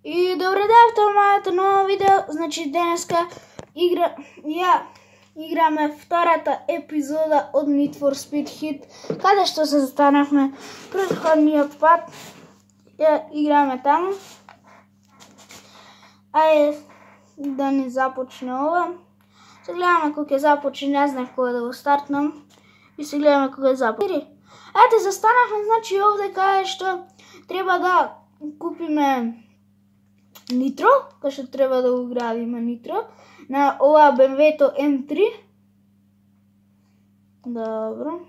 И добре дојавте во моето ново видео. Значи денеска играме втората епизода од Need for Speed Heat, каде што се застанавме претходниот пат. Играме таму. Ајде да ни започне ова. Се гледаме кога ќе започне, не знаев кога да го стартнам. И се гледаме кога започне. Ете, застанавме, значи овде каде што треба да купиме нитро, кај што треба да го градиме нитро на ова BMW-то M3. Добро.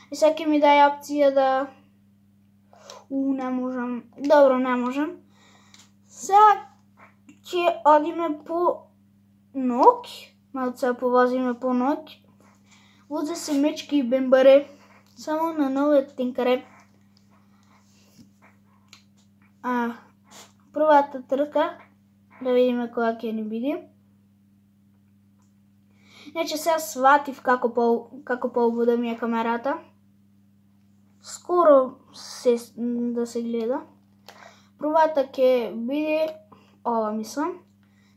И сега ќе ми дај опција да... не можам. Добро, не можам. Сега ќе одиме по ног. Малце повозиме по ног. Возе се мечки и бембаре. Само на новиот тенкаре. Првата трка, да видиме која ќе ни биде. Значи сега сватив како поубава ми е камерата. Скоро да се гледа. Првата ќе биде ова, мислам.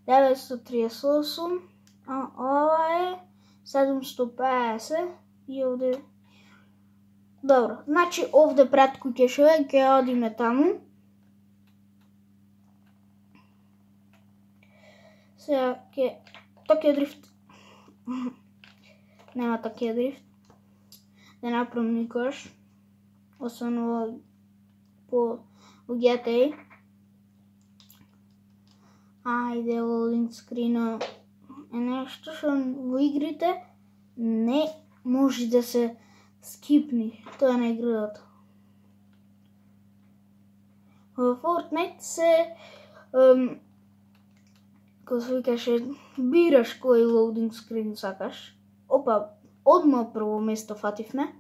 938, а ова е 750 и овде... Добро, значи овде пред куќешове ќе одиме таму. Сега ќе... Токио дрифт. Нема Токио дрифт. Не направам никош. Освен по GTA. Ајде, лоудинг скрина е нешто што во игрите не може да се скипни. Тоа не е играта. Во Fortnite се како се викаше, бираш кој лоудинг скрин сакаш. Опа, одма прво место фативме.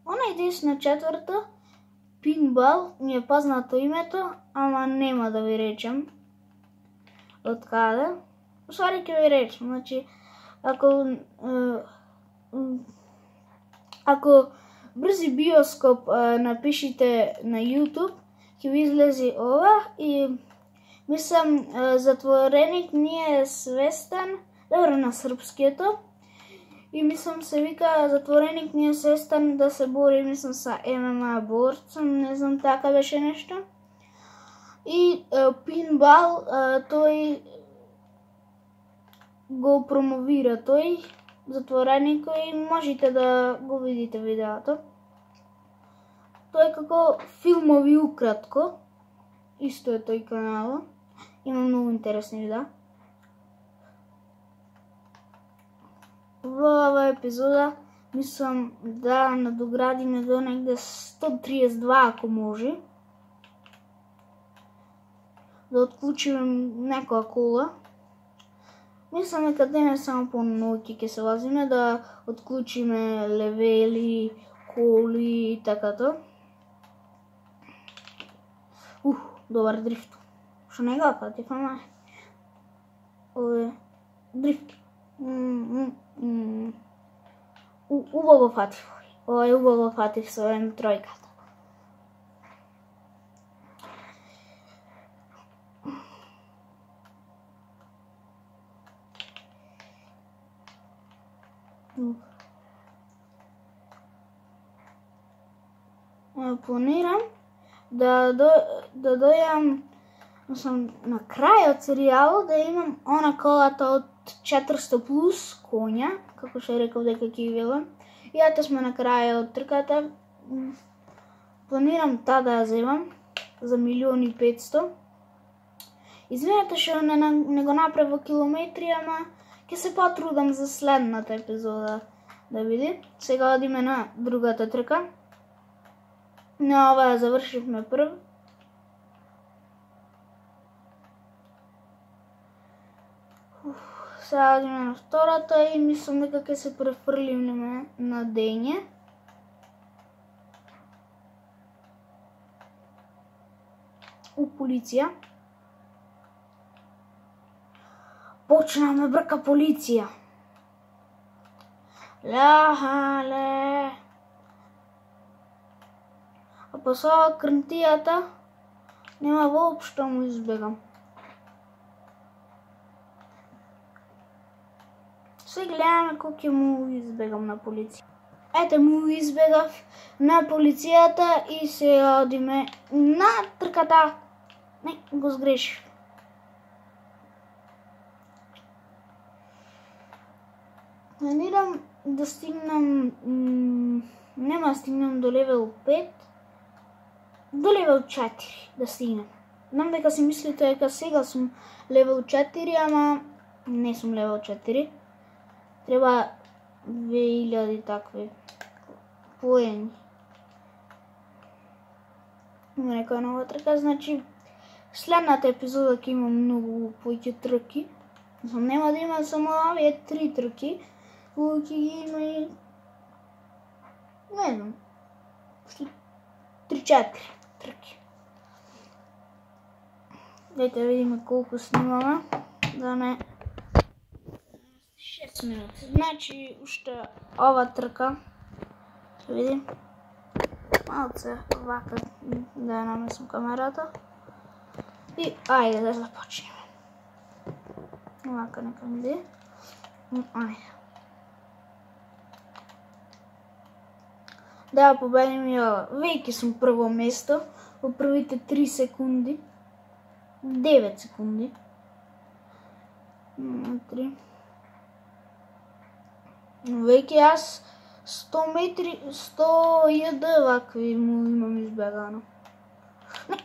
Онај десна четврта, Пинбал, ми е познато името, ама нема да ви речем од каде. Усвари ќе ви речем, значи, ако брзи биоскоп напишите на YouTube, ќе ви излези ова и мислам затвореник не е свестен, добро на српскието, и мислам се вика затвореник не е свестен да се бори, мислам са ММА борцом, не знам, така беше нешто. И Пинбал, тој го промовира, тој затвореник, и можете да го видите видеото. Тој како филмови укратко, исто е тој канал, има многу интересни видеа. Во ова епизода мислам да надоградиме до негде 132 ако може. Да отклучиме некоја кола. Мислам дека денес само по ноќи ќе се возиме, да отклучиме левели, коли и такато. Добар дрифт. Што не го фатив, ама ове дрифт. Убаво фатив. Ова е убаво фатив со М3-ката. Планирам да дојам на крајот серијалот, да имам она колата од 400 плюс коња, како што реков дека ќе велам. И ете сме на крајот трката. Планирам таа да ја земам за 1.500.000. Извинете што не го направив во километри, ама ќе се потрудам за следната епизода да види. Сега одиме на другата трка. На ова ја завршивме прв. Сега одиме на втората и мислам дека ќе се префрлиме на дење. Полиција. Почна ме брка полиција. Ле. А па со ова крнтијата нема воопшто му избегам. Се гледаме кој ќе му избегам на полиција. Ете му избегав на полицијата и сега одиме на трката. Не, го сгрешив. Планирам да стигнам, нема да стигнам до левел 5, до левел 4 да стигнам. Знам дека си мислите дека сега сум левел 4, ама не сум левел 4. Треба 2000 такви поени. Има некоја нова трка, значи следната епизода ќе има многу повеќе трки. Нема да има само овие 3 трки, ќе ги има и не знам, 3-4 трки. Дайте да видиме колку снимаме, да не 6 минути. Значи, уште ова трка, ќе видим, малце вака да ја намесам камерата и ајде да започнеме. Вака нека ми иде. Ајде. Да победим и ова. Веќе сум прво место во првите 3 секунди. 9 секунди. 3. Веќе јас 100 метри, 100 јд вакви му имам избегано. Не.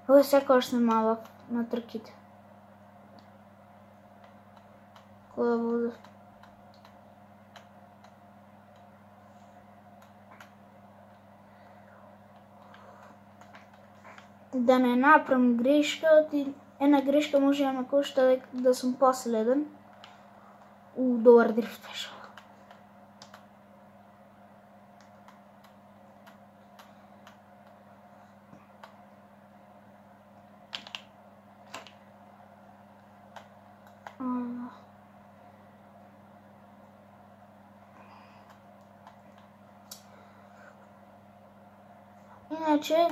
Ова секогаш сме малак на трките. Која вода? Да не направам грешка, една грешка може да ме кошта да сум последен. Добар дрифт беше. Иначе,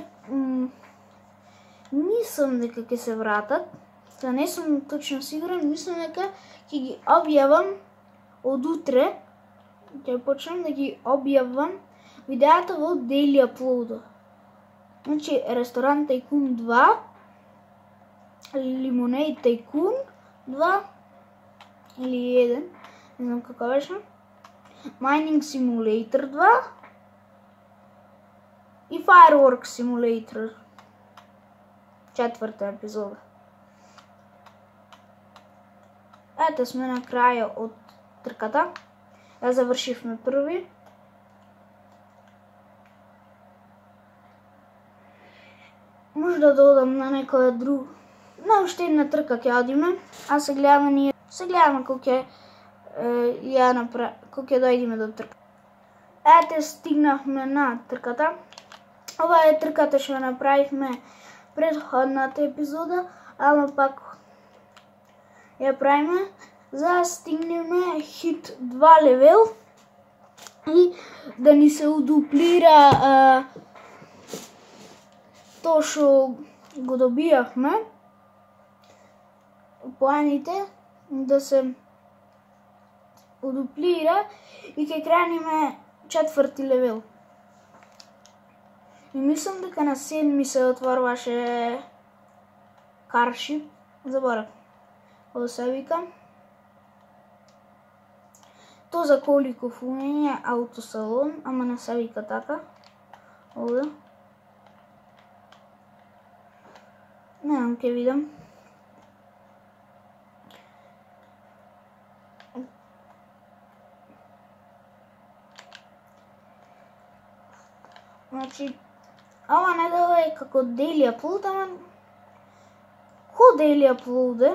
мислам дека ќе се вратат, да не сум точно сигурен, мислам дека ќе ги објавам од утре, ќе почнам да ги објавам видеата во Daily Upload. Значи, Ресторан Тайкун 2, Lemonade Тайкун 2, или 1, не знам како беше, Mining Simulator 2 и Fireworks Simulator, 4-та епизода. Ето сме на краја од трката. Ја завршивме први. Може да додам на некоја друг. На уште една трка ќе одиме, а се гледаме колку ќе ја направи, колку ќе дојдеме до трка. Ете стигнавме на трката. Ова е трката што ја направивме предходната епизода, ама пак ја правиме за да стигнеме хит 2 левел и да ни се удуплира тоа што го добијавме поените, да се удуплира и ќе крениме 4-ти левел. И мислам дека на 7-ми се отворваше Каршип, заборав. Ово се вика. То за коли куфување, аутосалон, ама не се вика така. Овде. Не знам, ќе видам. Значи, ова не делува како Daily Upload, ама ко Daily Upload е?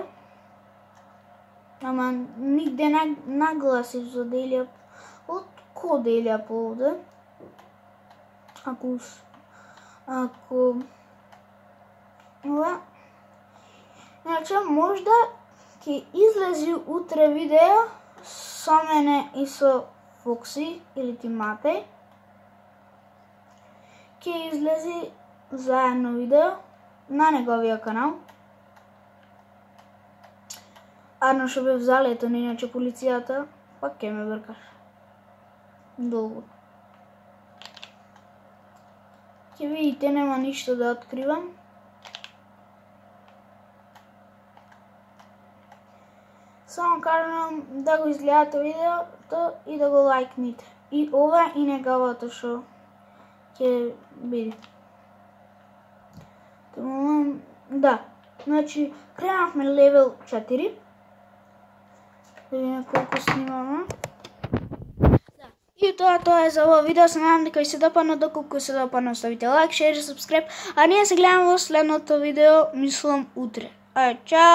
Ама нигде нагласи за Daily Upload, ко Daily Upload е? Ако ова, значи можда ќе излези утре видео со мене и со Фокси или Тиматеј. ќе излези заедно видео на неговиот канал. Арно што бев залетен, иначе полицијата, пак ќе ме бркаш. Долго. Ќе видите, нема ништо да откривам. Само кажам да го изгледате видеото и да го лајкните. И ова и неговото што ќе видите. Да, значи кренавме левел 4. Да видиме колку снимаме. Да. И тоа е за ова видео. Се надам дека ви се допадна, доколку се допадна оставите лайк, шер и сабскрайб. А ние се гледаме во следното видео, мислам утре. Ајде, чао!